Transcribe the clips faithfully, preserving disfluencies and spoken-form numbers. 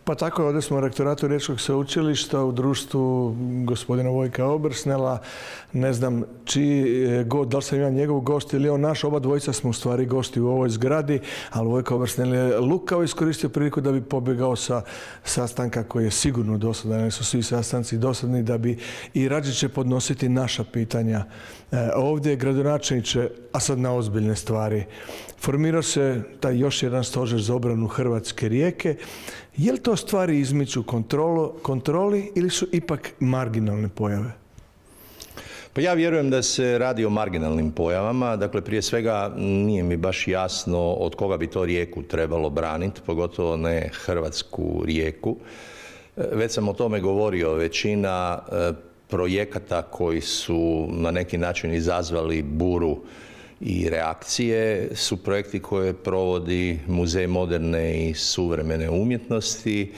Pa tako, ovdje smo u rektoratu Riječkog sveučilišta u društvu gospodina Vojka Obrsnela. Ne znam čiji gost, da li sam ja njegov gost ili on naš, oba dvojica smo u stvari gosti u ovoj zgradi, ali Vojka Obrsnel je lukavo iskoristio priliku da bi pobjegao sa sastanka koji je sigurno dosadan, jer su svi sastanci dosadni, da bi i rađe će podnositi naša pitanja. E, ovdje gradonačelniče, a sad na ozbiljne stvari. Formirao se taj još jedan stožer za obranu Hrvatske Rijeke. Je li to stvari izmiču kontrolo, kontroli ili su ipak marginalne pojave? Pa ja vjerujem da se radi o marginalnim pojavama. Dakle, prije svega nije mi baš jasno od koga bi to Rijeku trebalo braniti, pogotovo ne Hrvatsku Rijeku. Već sam o tome govorio, većina projekata koji su na neki način izazvali buru i reakcije su projekti koje provodi Muzej moderne i suvremene umjetnosti,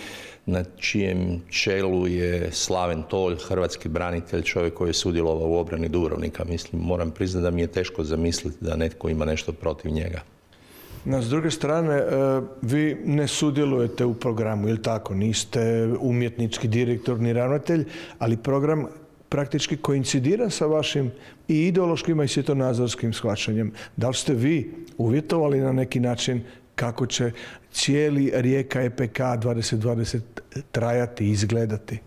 na čijem čelu je Slaven Tolj, hrvatski branitelj, čovjek koji je sudjelovao u obrani Dubrovnika. Mislim, moram priznati da mi je teško zamisliti da netko ima nešto protiv njega. No, s druge strane, vi ne sudjelujete u programu, ili tako? Niste umjetnički direktor ni ravnatelj, ali program praktički koincidira sa vašim i ideološkim i svjetonazorskim shvaćanjem. Da li ste vi uvjetovali na neki način kako će cijeli Rijeka E P K dvadeset dvadeset trajati i izgledati?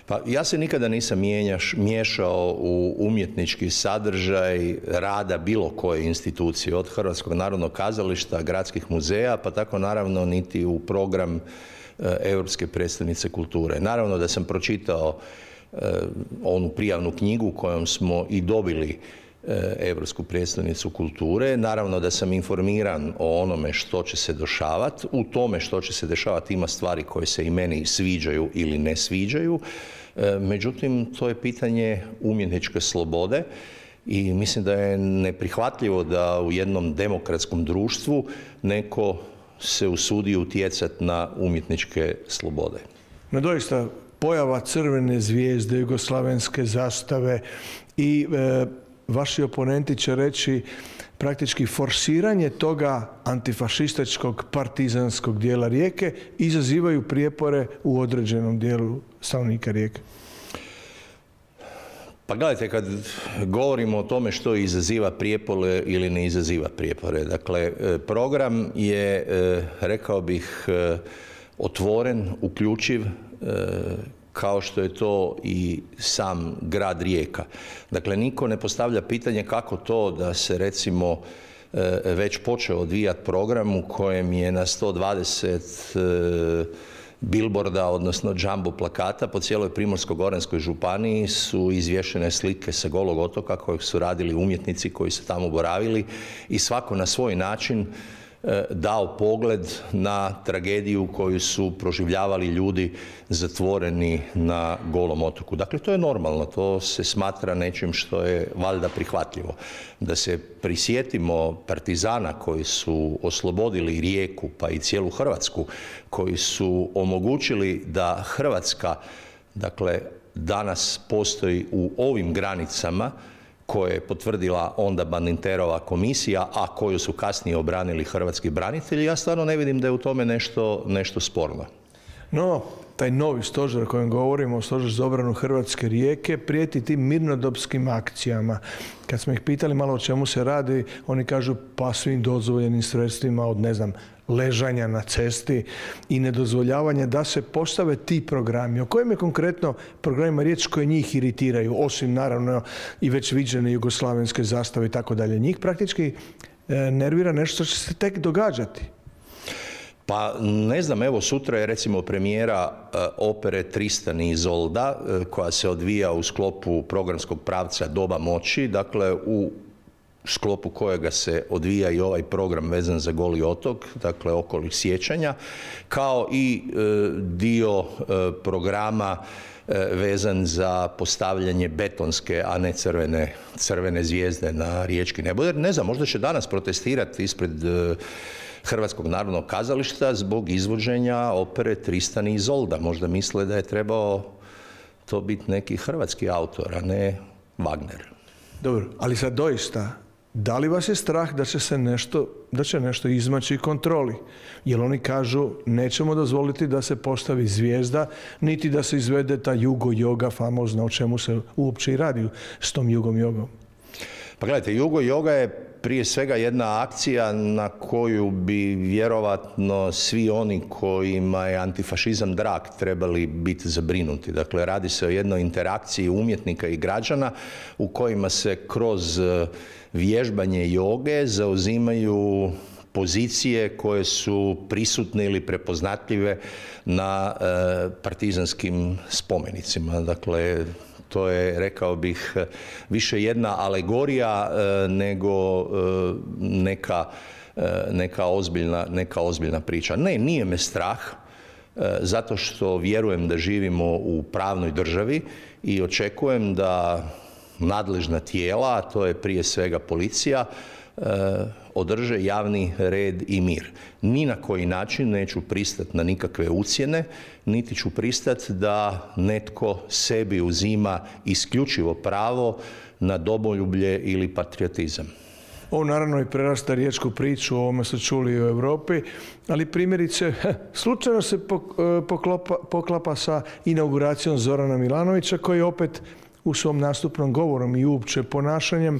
Pa ja se nikada nisam mijenjaš, miješao u umjetnički sadržaj rada bilo koje institucije, od Hrvatskog narodnog kazališta, gradskih muzeja, pa tako naravno niti u program e, Europske predstavnice kulture. Naravno da sam pročitao e, onu prijavnu knjigu kojom smo i dobili Europsku predstavnicu kulture. Naravno da sam informiran o onome što će se dešavati. U tome što će se dešavati ima stvari koje se i meni sviđaju ili ne sviđaju. Međutim, to je pitanje umjetničke slobode i mislim da je neprihvatljivo da u jednom demokratskom društvu neko se usudi utjecati na umjetničke slobode. No doista, pojava crvene zvijezde, jugoslavenske zastave i e, vaši oponenti će reći praktički forsiranje toga antifašističkog partizanskog dijela Rijeke izazivaju prijepore u određenom dijelu stanovnika Rijeke. Pa gledajte, kad govorimo o tome što izaziva prijepore ili ne izaziva prijepore, dakle, program je, rekao bih, otvoren, uključiv, kao što je to i sam grad Rijeka. Dakle, niko ne postavlja pitanje kako to da se, recimo, već počeo odvijati program u kojem je na sto dvadeset bilborda, odnosno jumbo plakata po cijeloj Primorsko-goranskoj županiji su izvješene slike sa Golog otoka kojeg su radili umjetnici koji su tamo boravili i svako na svoj način dao pogled na tragediju koju su proživljavali ljudi zatvoreni na Golom otoku. Dakle, to je normalno, to se smatra nečim što je valjda prihvatljivo. Da se prisjetimo partizana koji su oslobodili Rijeku, pa i cijelu Hrvatsku, koji su omogućili da Hrvatska, dakle, danas postoji u ovim granicama koje je potvrdila onda Badinterova komisija, a koju su kasnije obranili hrvatski branitelji, ja stvarno ne vidim da je u tome nešto, nešto sporno. No, taj novi stožer o kojem govorimo, stožer za obranu Hrvatske Rijeke, prijeti tim mirnodopskim akcijama. Kad smo ih pitali malo o čemu se radi, oni kažu pa svim dozvoljenim sredstvima od, ne znam, ležanja na cesti i nedozvoljavanja da se postave ti programi. O kojim je konkretno programima riječ koje njih iritiraju, osim naravno i već viđene jugoslavenske zastave i tako dalje. Njih praktički nervira nešto što će se tek događati. Pa ne znam, evo sutra je recimo premijera opere Tristan i Izolda koja se odvija u sklopu programskog pravca Doba moći, dakle u sklopu kojega se odvija i ovaj program vezan za Goli otok, dakle okolnih sjećanja, kao i e, dio e, programa e, vezan za postavljanje betonske, a ne crvene, crvene zvijezde na riječki neboder. Ne znam, možda će danas protestirati ispred e, Hrvatskog narodnog kazališta zbog izvođenja opere Tristan i Izolda. Možda misle da je trebao to biti neki hrvatski autor, a ne Wagner. Dobro, ali sad doista Da li vas je strah da će se nešto, da će nešto izmaći kontroli? Jer oni kažu nećemo dozvoliti da se postavi zvijezda, niti da se izvede ta jugo joga famozna, o čemu se uopće i radi s tom jugom jogom. Pa gledajte, jugo joga je prije svega jedna akcija na koju bi vjerovatno svi oni kojima je antifašizam drag trebali biti zabrinuti. Dakle, radi se o jednoj interakciji umjetnika i građana u kojima se kroz vježbanje joge zauzimaju pozicije koje su prisutne ili prepoznatljive na e, partizanskim spomenicima. Dakle, to je, rekao bih, više jedna alegorija e, nego e, neka, e, neka, ozbiljna, neka ozbiljna priča. Ne, nije me strah, e, zato što vjerujem da živimo u pravnoj državi i očekujem da nadležna tijela, a to je prije svega policija, e, održe javni red i mir. Ni na koji način neću pristati na nikakve ucjene, niti ću pristati da netko sebi uzima isključivo pravo na domoljublje ili patriotizam. Ovo naravno i prerasta riječku priču, o ovome su čuli i u Europi, ali primjerice, slučajno se poklopa, poklapa sa inauguracijom Zorana Milanovića, koji opet u svom nastupnom govorom i uopće ponašanjem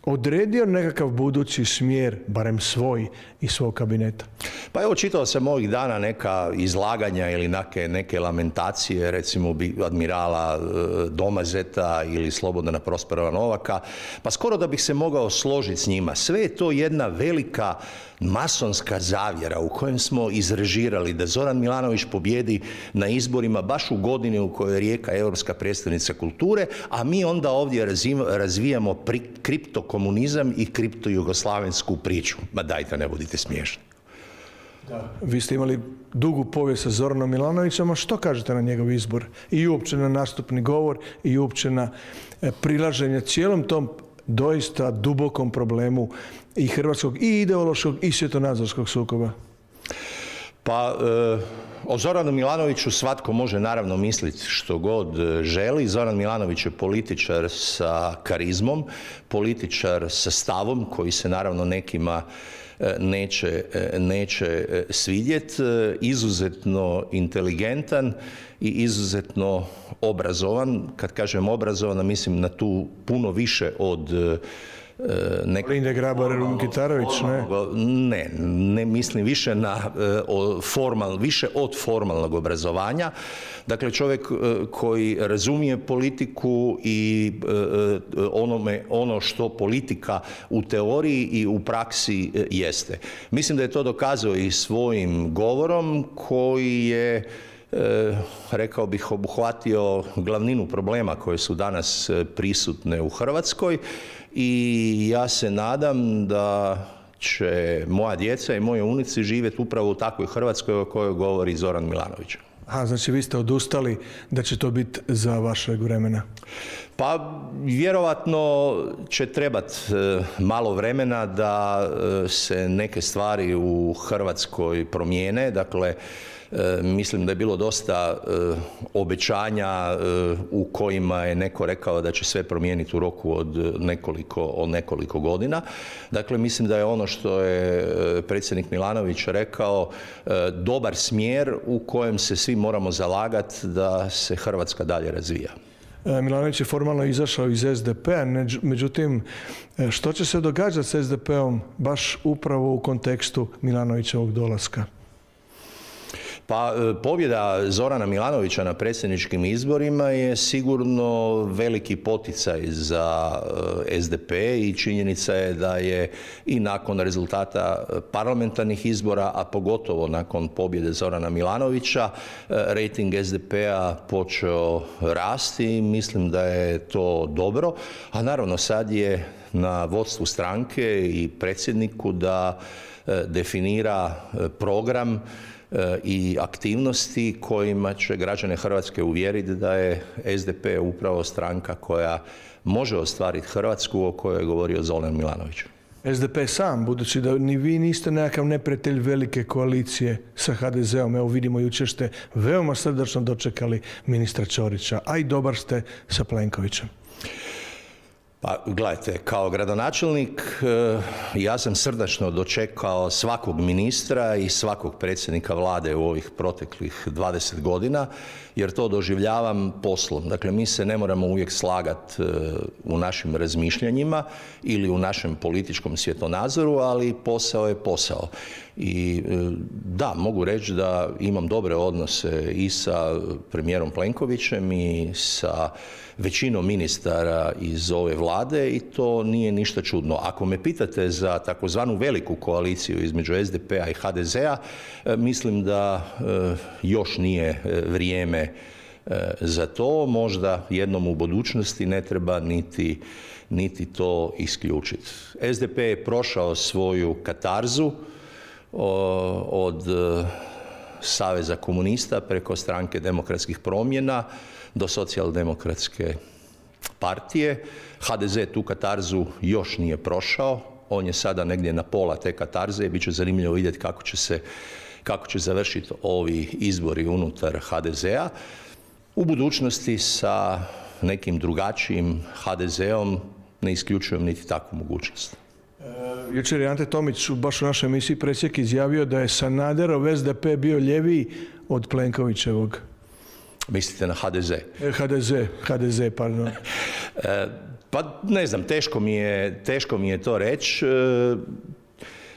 odredio nekakav budući smjer, barem svoj i svog kabineta. Pa evo, čitao sam ovih dana neka izlaganja ili neke, neke lamentacije, recimo admirala Domazeta ili Slobodana Prosperova Novaka, pa skoro da bih se mogao složiti s njima. Sve je to jedna velika masonska zavjera u kojem smo izrežirali da Zoran Milanović pobjedi na izborima baš u godini u kojoj je Rijeka europska prijestolnica kulture, a mi onda ovdje razvijamo kriptokomunizam i kriptojugoslavensku priču. Ma dajte, ne budite smiješni. Da. Vi ste imali dugu povijest sa Zoranom Milanovićem, a što kažete na njegov izbor? I uopće na nastupni govor i uopće na prilaženje cijelom tom doista dubokom problemu i hrvatskog i ideološkog i svjetonazorskog sukoba? Pa, e, o Zoranu Milanoviću svatko može naravno misliti što god želi. Zoran Milanović je političar sa karizmom, političar sa stavom koji se naravno nekima neće, neće svidjeti, izuzetno inteligentan i izuzetno obrazovan. Kad kažem obrazovan, mislim na tu puno više od Nek... Linde Grabar-Kitarović, ne? Ne, ne mislim više na formal, više od formalnog obrazovanja. Dakle, čovjek koji razumije politiku i onome, ono što politika u teoriji i u praksi jeste. Mislim da je to dokazao i svojim govorom koji je, rekao bih, obuhvatio glavninu problema koje su danas prisutne u Hrvatskoj. I ja se nadam da će moja djeca i moje unuci živjeti upravo u takvoj Hrvatskoj o kojoj govori Zoran Milanović. A, znači vi ste odustali da će to biti za vašeg vremena? Pa vjerovatno će trebati malo vremena da se neke stvari u Hrvatskoj promijene. Dakle, mislim da je bilo dosta obećanja u kojima je neko rekao da će sve promijeniti u roku od nekoliko, od nekoliko godina. Dakle, mislim da je ono što je predsjednik Milanović rekao dobar smjer u kojem se svi moramo zalagati da se Hrvatska dalje razvija. Milanović je formalno izašao iz S D P-a, međutim, što će se događati s S D P-om baš upravo u kontekstu Milanovićevog dolaska? Pa pobjeda Zorana Milanovića na predsjedničkim izborima je sigurno veliki poticaj za S D P i činjenica je da je i nakon rezultata parlamentarnih izbora, a pogotovo nakon pobjede Zorana Milanovića, rejting S D P-a počeo rasti. Mislim da je to dobro, a naravno sad je na vodstvu stranke i predsjedniku da definira program i aktivnosti kojima će građane Hrvatske uvjeriti da je S D P upravo stranka koja može ostvariti Hrvatsku o kojoj je govorio Zoran Milanović. S D P sam, budući da ni vi niste nekakav neprijatelj velike koalicije sa H D Z-om, evo vidimo jučer ste veoma srdačno dočekali ministra Ćorića, a i dobar ste sa Plenkovićem. Pa gledajte, kao gradonačelnik ja sam srdačno dočekao svakog ministra i svakog predsjednika vlade u ovih proteklih dvadeset godina, jer to doživljavam poslom. Dakle, mi se ne moramo uvijek slagati u našim razmišljanjima ili u našem političkom svjetonazoru, ali posao je posao. I da, mogu reći da imam dobre odnose i sa premijerom Plenkovićem i sa većinom ministara iz ove vlade i to nije ništa čudno. Ako me pitate za takozvanu veliku koaliciju između es de pe a i ha de ze a, mislim da još nije vrijeme za to. Možda jednom u budućnosti ne treba niti, niti to isključiti. es de pe je prošao svoju katarzu od Saveza komunista preko Stranke demokratskih promjena do Socijaldemokratske partije. ha de ze tu katarzu još nije prošao, on je sada negdje na pola te katarze i bit će zanimljivo vidjeti kako će se, kako će završiti ovi izbori unutar ha de ze a. U budućnosti sa nekim drugačijim ha de ze om ne isključujem niti takvu mogućnost. Jučer je Ante Tomić baš u našoj emisiji Presjek izjavio da je Sanaderov es de pe bio ljeviji od Plenkovićevog. Mislite na ha de ze? ha de ze, ha de ze, pardon. Pa ne znam, teško mi je, teško mi je to reći.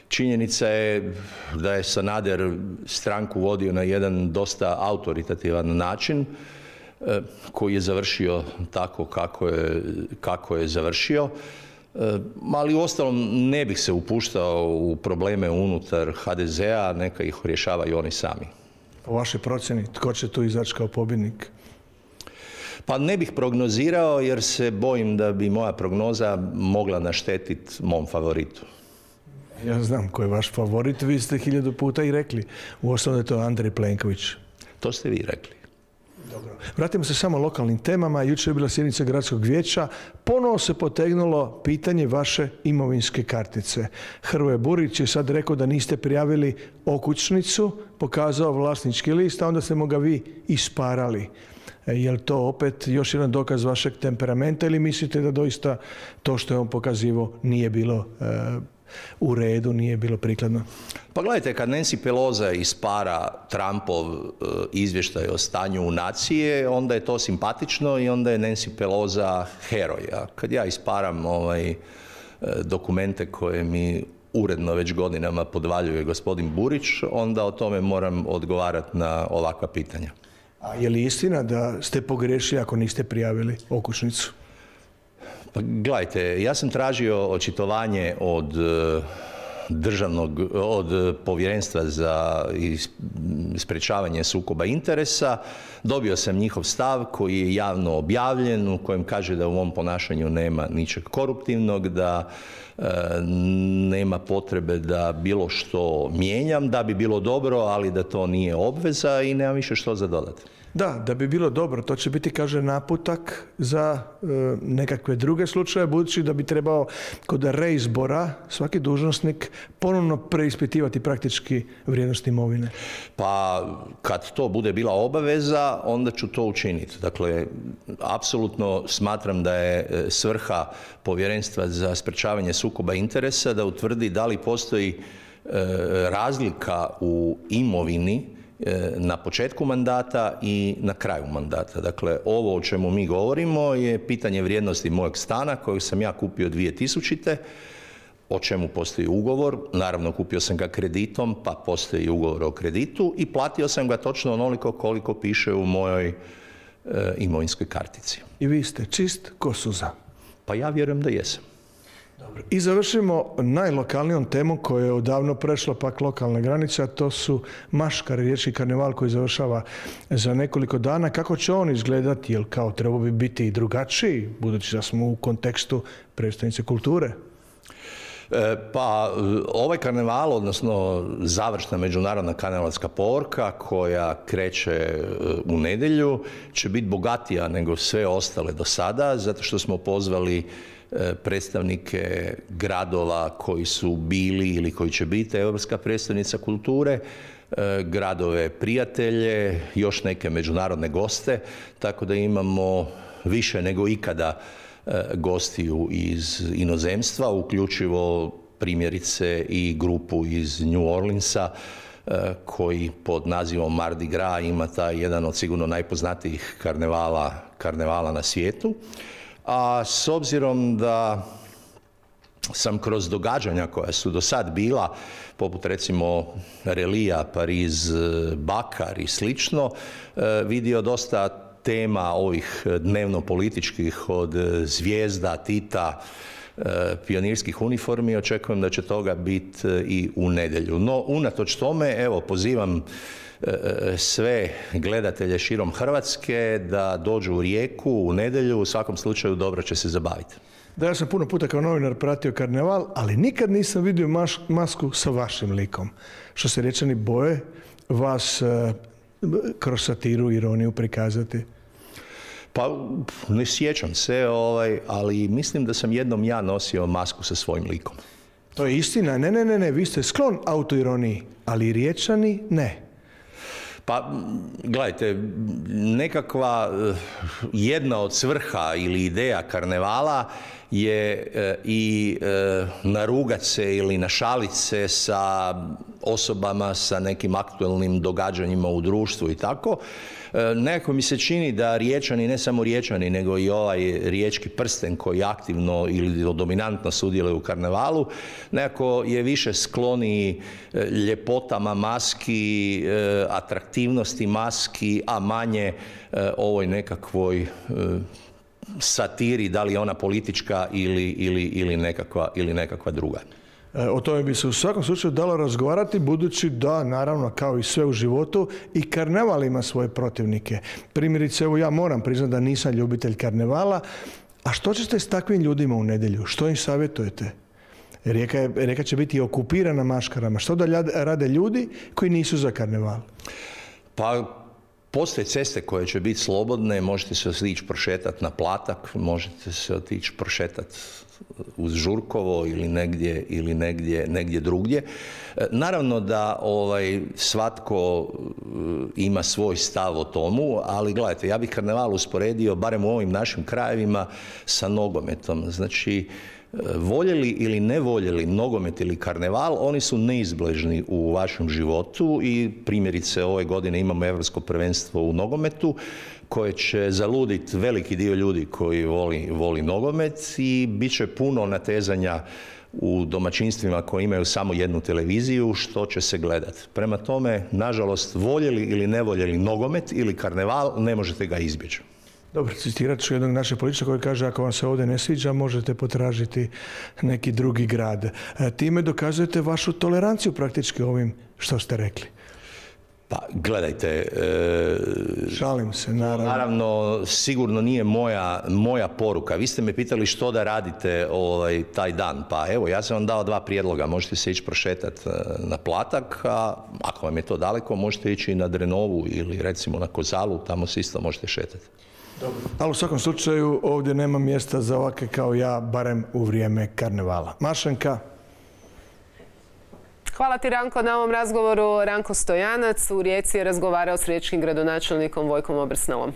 Činjenica je da je Sanader stranku vodio na jedan dosta autoritativan način koji je završio tako kako je, kako je završio. Ali uostalom ne bih se upuštao u probleme unutar ha de ze a, neka ih rješavaju oni sami. Po vašoj procjeni, tko će tu izaći kao pobjednik? Pa ne bih prognozirao jer se bojim da bi moja prognoza mogla naštetiti mom favoritu. Ja znam ko je vaš favorit, vi ste hiljadu puta i rekli. Uostalom da je to Andrej Plenković. To ste vi rekli. Dobro. Vratimo se samo lokalnim temama. Jučer je bila sjednica gradskog vijeća. Ponovo se potegnulo pitanje vaše imovinske kartice. Hrvoje Burić je sad rekao da niste prijavili okućnicu, pokazao vlasnički list, a onda ste mu ga vi isparali. Je li to opet još jedan dokaz vašeg temperamenta ili mislite da doista to što je on pokazivao nije bilo e, u redu, nije bilo prikladno? Pa gledajte, kad Nancy Pelosi ispara Trumpov e, izvještaj o stanju u nacije, onda je to simpatično i onda je Nancy Pelosi heroj. A kad ja isparam ovaj, e, dokumente koje mi uredno već godinama podvaljuje gospodin Burić, onda o tome moram odgovarati na ovakva pitanja. A je li istina da ste pogriješili ako niste prijavili okućnicu? Pa gledajte, ja sam tražio očitovanje od državnog, od Povjerenstva za sprječavanje sukoba interesa. Dobio sam njihov stav koji je javno objavljen, u kojem kaže da u mom ponašanju nema ničeg koruptivnog, da e, nema potrebe da bilo što mijenjam, da bi bilo dobro, ali da to nije obveza i nema više što za dodati. Da, da bi bilo dobro. To će biti, kaže, naputak za e, nekakve druge slučaje, budući da bi trebao kod reizbora svaki dužnosnik ponovno preispitivati praktički vrijednost imovine. Pa kad to bude bila obaveza, onda ću to učiniti. Dakle, apsolutno smatram da je svrha Povjerenstva za sprječavanje sukoba interesa da utvrdi da li postoji e, razlika u imovini na početku mandata i na kraju mandata. Dakle, ovo o čemu mi govorimo je pitanje vrijednosti mojeg stana kojeg sam ja kupio dvije tisućite. O čemu postoji ugovor. Naravno, kupio sam ga kreditom, pa postoji ugovor o kreditu i platio sam ga točno onoliko koliko piše u mojoj e, imovinskoj kartici. I vi ste čist ko suza? Pa ja vjerujem da jesam. Dobro. I završimo najlokalnijom temom koja je odavno prešla pak lokalne granice, a to su Maškari, riječki karneval koji završava za nekoliko dana. Kako će on izgledati? Jel kao trebao bi biti i drugačiji, budući da smo u kontekstu predstavnice kulture? E, pa ovaj karneval, odnosno završna međunarodna karnevalska povorka koja kreće u nedjelju, će biti bogatija nego sve ostale do sada, zato što smo pozvali predstavnike gradova koji su bili ili koji će biti europska predstavnica kulture, gradove prijatelje, još neke međunarodne goste, tako da imamo više nego ikada gostiju iz inozemstva, uključivo primjerice i grupu iz New Orleansa koji pod nazivom Mardi Gras ima taj jedan od sigurno najpoznatijih karnevala, karnevala na svijetu. A s obzirom da sam kroz događanja koja su do sad bila, poput recimo Relija, Pariz, Bakar i slično, vidio dosta tema ovih dnevno-političkih od zvijezda, Tita, pionirskih uniformi. Očekujem da će toga biti i u nedjelju. No, unatoč tome, evo, pozivam sve gledatelje širom Hrvatske da dođu u Rijeku u nedjelju, u svakom slučaju dobro će se zabaviti. Da, ja sam puno puta kao novinar pratio karneval, ali nikad nisam vidio maš, masku sa vašim likom. Što se Riječani boje vas uh, kroz satiru, ironiju prikazati? Pa ne sjećam se, ovaj, ali mislim da sam jednom ja nosio masku sa svojim likom. To je istina. Ne, ne, ne, ne. Vi ste sklon autoironiji, ali Riječani ne. Pa, gledajte, nekakva jedna od svrha ili ideja karnevala je i narugat se ili našalit se sa osobama, sa nekim aktualnim događanjima u društvu i tako. Nekako mi se čini da Riječani, ne samo Riječani, nego i ovaj riječki prsten koji aktivno ili dominantno sudjeluje u karnevalu, nekako je više skloniji ljepotama maski, atraktivnosti maski, a manje ovoj nekakvoj satiri, da li je ona politička ili, ili, ili, nekakva, ili nekakva druga. O tome bi se u svakom slučaju dalo razgovarati, budući da, naravno, kao i sve u životu, i karneval ima svoje protivnike. Primjerice, evo ja moram priznati da nisam ljubitelj karnevala. A što ćete s takvim ljudima u nedjelju? Što im savjetujete? Rijeka, je, Rijeka će biti okupirana maškarama. Što da rade ljudi koji nisu za karneval? Pa, postoje ceste koje će biti slobodne, možete se otići prošetati na Platak, možete se otići prošetati uz Žurkovo ili negdje, ili negdje, negdje drugdje. Naravno da ovaj, svatko ima svoj stav o tomu, ali gledajte, ja bih karneval usporedio, barem u ovim našim krajevima, sa nogometom. Znači, voljeli ili ne voljeli nogomet ili karneval, oni su neizbježni u vašem životu i primjerice ove godine imamo Europsko prvenstvo u nogometu koje će zaluditi veliki dio ljudi koji voli, voli nogomet i bit će puno natezanja u domaćinstvima koji imaju samo jednu televiziju što će se gledati. Prema tome, nažalost, voljeli ili ne voljeli nogomet ili karneval, ne možete ga izbjeći. Dobro, citirat ću jednog našeg političara koji kaže ako vam se ovdje ne sviđa, možete potražiti neki drugi grad. E, time dokazujete vašu toleranciju praktički ovim što ste rekli. Pa, gledajte... E, Šalim se, naravno. Naravno, sigurno nije moja, moja poruka. Vi ste me pitali što da radite ovaj, taj dan. Pa evo, ja sam vam dao dva prijedloga. Možete se ići prošetati na Platak, a ako vam je to daleko, možete ići na Drenovu ili recimo na Kozalu, tamo se isto možete šetati. Dobro. Ali u svakom slučaju ovdje nema mjesta za ovake kao ja, barem u vrijeme karnevala. Mašenka. Hvala ti, Ranko, na ovom razgovoru. Ranko Stojanac u Rijeci je razgovarao s riječkim gradonačelnikom Vojkom Obersnelom.